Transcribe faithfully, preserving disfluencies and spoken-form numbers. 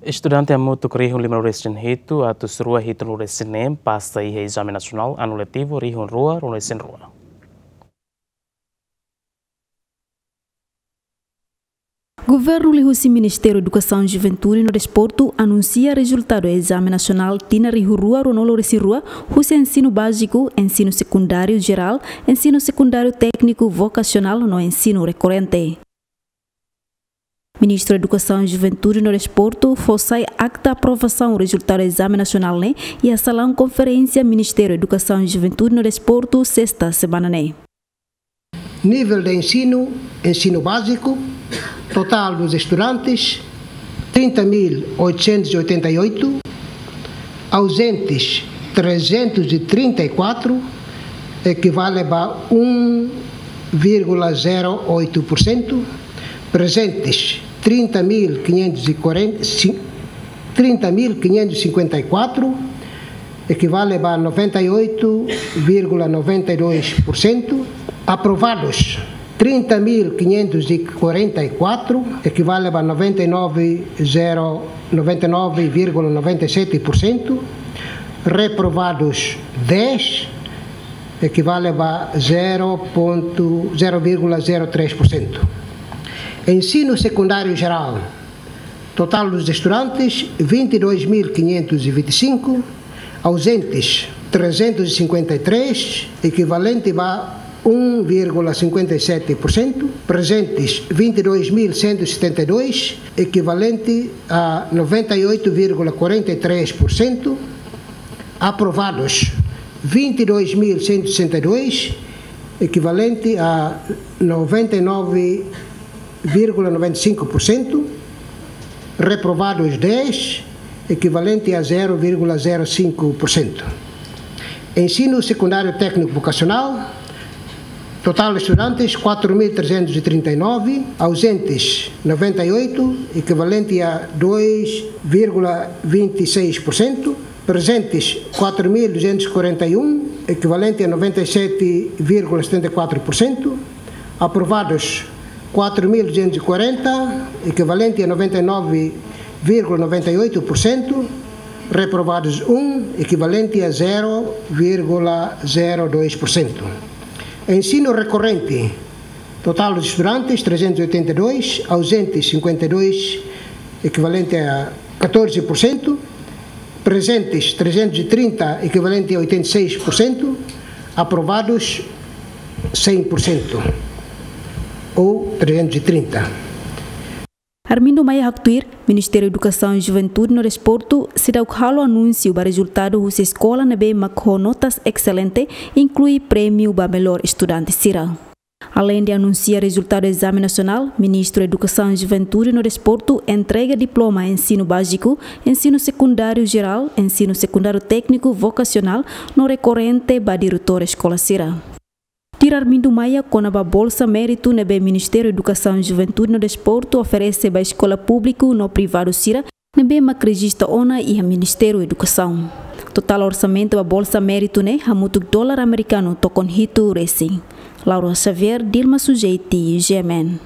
Estudante hamutuk rihun lima-resin-hitu atus rua hitu-resin-neen pasa iha ezame nasionál anu letivu rihun rua-resin-rua. Governu liuhusi Ministériu Edukasaun, Juventude no Desportu anunsia rezultadu ezame nasionál tinan rihun rua rua-nulu resin rua husi ensinu báziku, ensinu sekundáriu jerál, ensinu sekundáriu tékniku vokasionál no ensinu rekorrente. Ministru Edukasaun, Juventude no Desportu fó sai akta aprovasaun rezultadu ezame nasionál ne'e iha salaun konferénsia Ministériu Edukasaun, Juventude no Desportu, sesta semana ne'e. Nível de ensino, ensino básico, total dos estudantes, trinta mil oitocentos e oitenta e oito, ausentes, trezentos e trinta e quatro, equivale a um vírgula zero oito por cento, presentes, trinta mil quinhentos e quarenta, trinta mil quinhentos e cinquenta e quatro, equivale a noventa e oito vírgula noventa e dois por cento. Aprovados, trinta mil quinhentos e quarenta e quatro, equivale a noventa e nove, zero, noventa e nove vírgula noventa e sete por cento. Reprovados, dez, equivale a zero ponto, zero vírgula zero três por cento. Ensino secundário geral, total dos estudantes, vinte e dois mil quinhentos e vinte e cinco, ausentes, trezentos e cinquenta e três, equivalente a um vírgula cinquenta e sete por cento, presentes, vinte e dois mil cento e setenta e dois, equivalente a noventa e oito vírgula quarenta e três por cento, aprovados, vinte e dois mil cento e sessenta e dois, equivalente a noventa e nove vírgula noventa e cinco por cento, reprovados, dez, equivalente a zero vírgula zero cinco por cento. Ensino secundário técnico vocacional, total de estudantes, quatro mil trezentos e trinta e nove, ausentes, noventa e oito, equivalente a dois vírgula vinte e seis por cento, presentes, quatro mil duzentos e quarenta e um, equivalente a noventa e sete vírgula setenta e quatro por cento, aprovados, quatro mil duzentos e quarenta, equivalente a noventa e nove vírgula noventa e oito por cento, reprovados, um, equivalente a zero vírgula zero dois por cento. Ensino recorrente, total dos estudantes, trezentos e oitenta e dois, ausentes, cinquenta e dois, equivalente a catorze por cento, presentes, trezentos e trinta, equivalente a oitenta e seis por cento, aprovados, cem por cento, ou trezentos e trinta. Armindo Maia haktuir, Ministériu Edukasaun, Juventude no Desportu seidauk halo anúnsiu ba rezultadu husi eskola ne'ebé mak ho notas excelente, inklui prémiu ba melhor estudante sira. Aleinde anunsia rezultadu ezame nasionál, Ministru Edukasaun, Juventude no Desportu entrega diploma ensinu báziku, ensinu sekundáriu jerál, ensinu sekundáriu tékniku vokasionál no rekorrente ba diretór eskola sira. Tuir Armindo Maia kona-ba bolsa méritu ne'ebé Ministériu Edukasaun, Juventude no Desportu oferese ba eskola públiku no privadu sira ne'ebé mak rejista ona iha Ministériu Edukasaun. Totál orsamentu ba bolsa méritu ne'e hamutuk dolar amerikanu tokon hitu resin. Laura Xavier, Dilma Sujeiti, G M N.